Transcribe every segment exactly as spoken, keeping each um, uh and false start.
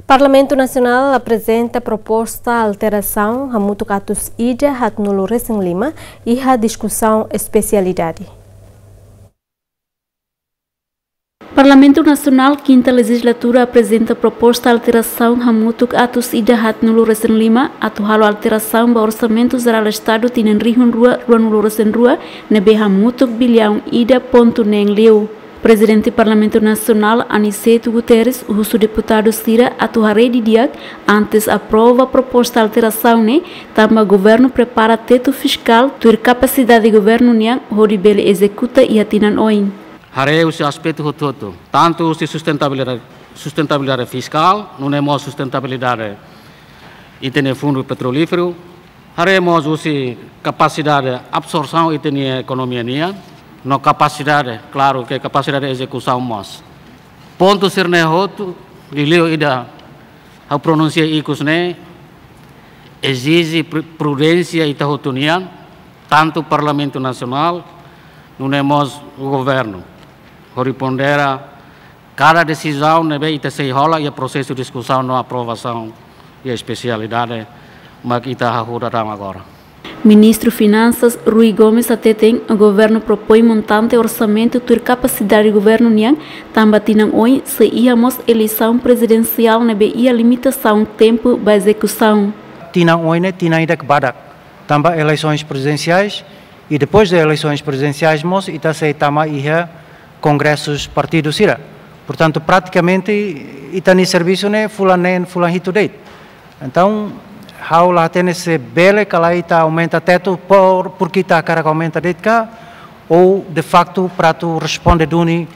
Parlamentu Nasionál aprezenta proposta alterasaun hamutuk atus ida haatnulu resin lima iha diskusaun espesialidade. Parlamentu Nasionál, kinta lejizlatura, aprezenta proposta alterasaun hamutuk atus ida haatnulu resin lima, atu halo alterasaun ba Orsamentu Jerál Estadu tinan rihun rua, ruanulu resin rua, ne'ebé hamutuk biliaun ida pontu neen liu. Prezidente Parlamentu Nasionál, Aniceto Guterres, husu deputadu sira atu haree didi'ak antes aprova proposta alterasaun ne'e, tanba governu prepara tetu fiskál tuir kapasidade governu nian hodi bele ezekuta iha tinan oin. Haree husi aspetu hotu-hotu, tantu husi sustentabilidade, sustentabilidade fiskál, nune'e mós sustentabilidade ita-nia fundu petrolíferu, haree mós husi kapasidade absorsaun ita-nia ekonomia nian, no kapasidade, klaru ke kapasidade ezekusaun mós. Pontu sira-ne'e hotu, liuliu ida ha'u pronunsia ikus ne'e, ezije pru-, prudénsia ita hotu nian, tantu Parlamentu Nasionál, nune'e mós governu, hodi pondera kada desizaun ne'ebé ita sei hola iha prosesu diskusaun no aprovasaun iha espesialidade mak ita hahú daudaun agora. Ministru Finansas, Rui Gomes, hateten governu propoin montante orsamentu tuir kapasidade governu nian, tanba tinan oin sei iha mós eleisaun prezidensiál ne'ebé iha limitasaun tempu ba ezekusaun. Tinan oin ne'e tinan ida ke badak, tanba eleisoens prezidensiais, i depois de eleisoens prezidensiais mós ita sei tama iha kongresus partidu sira. Portantu, pratikamente, ita-nia servisu ne'e fulan neen, fulan hitu de'it. Entaun, ha'u la hatene se bele ka lae ita aumenta tetu por, porke ita hakarak aumenta de'it ka, ou, de faktu, para atu responde duni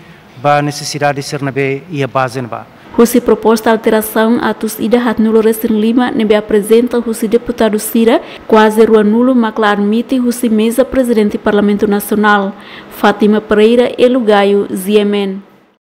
ba nesesidade sira ne'ebé iha baze ne'ebá. Husi proposta alterasaun atus ida haatnulu resin lima ne'ebé aprezenta husi deputadu sira, kuaze ruanulu mak la admite husi meza Prezidente Parlamentu Nasionál. Fátima Pereira, Elu Gayo, G M N.